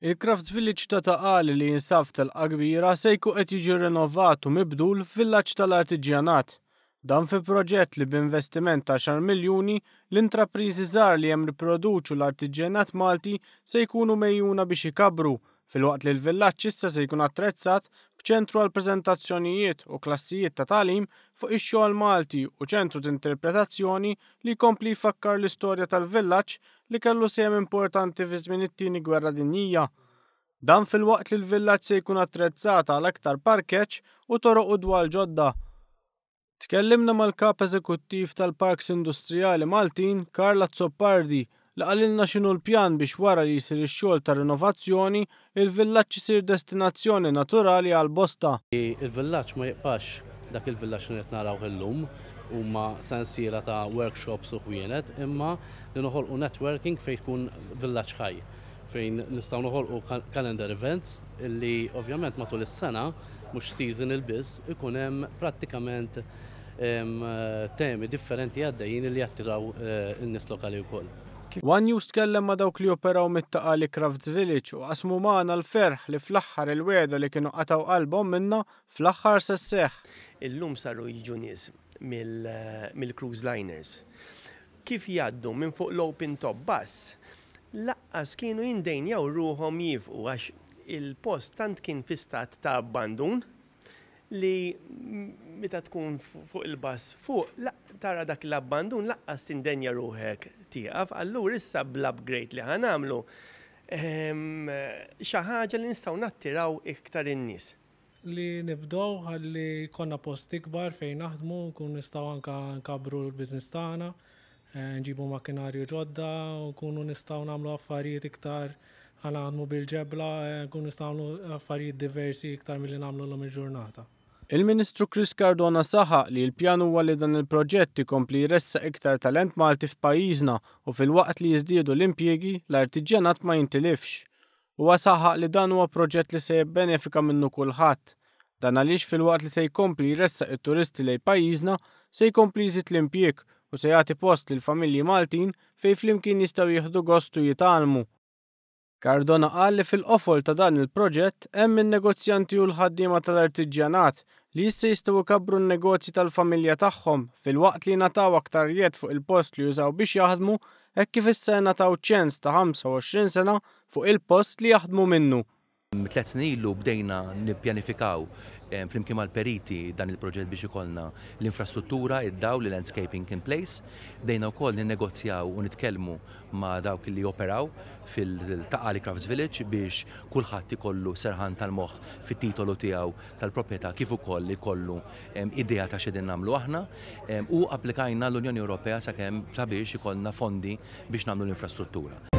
Il-Crafts Village ta' Ta' Qali li jinsab f'telqa kbira se jkun qed jiġi rinovat u mibdul f'villaġġ tal-artiġjanat. Dan fi proġett li b'investiment ta' għaxar miljuni, l-intrapriżi żgħar li hemm jipproduċu l-artiġjanat Malti se jkunu megħjuna biex ikabbru, filwaqt li l-villaġġ issa se jkun attrezzat b'ċentru għal preżentazzjonijiet u klassijiet ta' tagħlim fuq ix-xogħol Malti u ċentru t'interpretazzjoni li jkompli jfakkar l-istorja tal-villaġġ li kellu sehem importanti fi żmien it-Tieni Gwerra Dinjija. Dan filwaqt li l-villaġġ se jkun attrezzat għal aktar parkeġġ u toroq u dwal ġodda. Tkellimna mal-Kap Eżekuttiv tal-Parks Industrijali Maltin, Karl Azzopardi, li qalilna x'inhu l-pjan biex wara li jsir ix-xogħol ta' rinovazzjoni, il-villaġġ isir destinazzjoni naturali għal bosta. Il-villaġġ ma jibqax dak il-villaġġ li qed narawh illum, huma sensiela ta' workshops u ħwienet, imma li noħolqu networking fejn tkun villaġġ ħaj, fejn nistgħu noħolqu calendar events li ovvjament matul is-sena, mhux seasonal biss, ikun hemm prattikament temi differenti għaddejjin li jattiraw in-nies lokali wkoll. One News tkellem ma' dawk li joperaw mit-Ta' Qali Crafts Village u qasmu magħna l-ferħ li fl-aħħar il-wegħda li kienu qatgħu qalbhom minnha fl-aħħar se sseħħ. Illum saru jiġu nies mill-cruise liners. Kif jgħaddu minn fuq l-open top bus, laqqas kienu jindejnjaw ruħhom jifqu għax il-post tant kien fi stat ta' abbandun li meta tkun fuq il-bus fuq tara dak l-abbandun laqqas tindenja ruħek tieqaf. Allura issa bl-upgrade li ħa nagħmlu xi ħaġa li nistgħu nattiraw iktar in-nies. Li nibdew ħalli jkollna post ikbar fejn naħdmu, nkunu nistgħu anka nkabbru l-business tagħna, nġibu makkinarju ġodda, nkunu nistgħu nagħmlu affarijiet iktar ħa naħdmu bil-ġebla, nkunu nistgħu nagħmlu affarijiet diversi iktar milli nagħmlu llum il-ġurnata. Il-Ministru Chris Cardona saħaq li l-pjan huwa li dan il-proġett ikompli jressaq iktar talent Malti f'pajjiżna u filwaqt li jiżdiedu l-impjiegi, l-artiġjanat ma jintilifx. Huwa saħaq li dan huwa proġett li se jibbenefika minnu kulħadd. Dan għaliex filwaqt li se jkompli jressaq it-turisti lejn pajjiżna, se jkompli jżid l-impjieg u se jagħti post lil familji Maltin fejn flimkien jistgħu jieħdu gost u jitgħallmu. Cardona qal li fil-qofol ta' dan il-proġett hemm in-negozjanti u l-ħaddiema tal-artiġjanat li issa jistgħu jkabbru n-negozji tal-familja tagħhom filwaqt li jingħataw aktar jedd fuq il-post li jużaw biex jaħdmu hekk kif issa jingħataw ċens ta' 25 sena fuq il-post li jaħdmu minnu. 3 snin ilu bdejna nippjanifikaw flimkien mal-periti dan il-proġett biex ikollna l-infrastruttura, id-dawl, il-landscaping in place. Bdejna wkoll ninnegozjaw u nitkellmu ma' dawk li joperaw fil-Ta' Qali Crafts Village biex kulħadd ikollu serħan tal-moħħ fit-titolu tiegħu tal-proprjetà kif ukoll ikollu idea ta' x'qegħdin nagħmlu aħna u applikajna l-Unjoni Ewropea sakemm sabiex ikollna fondi biex nagħmlu l-infrastruttura.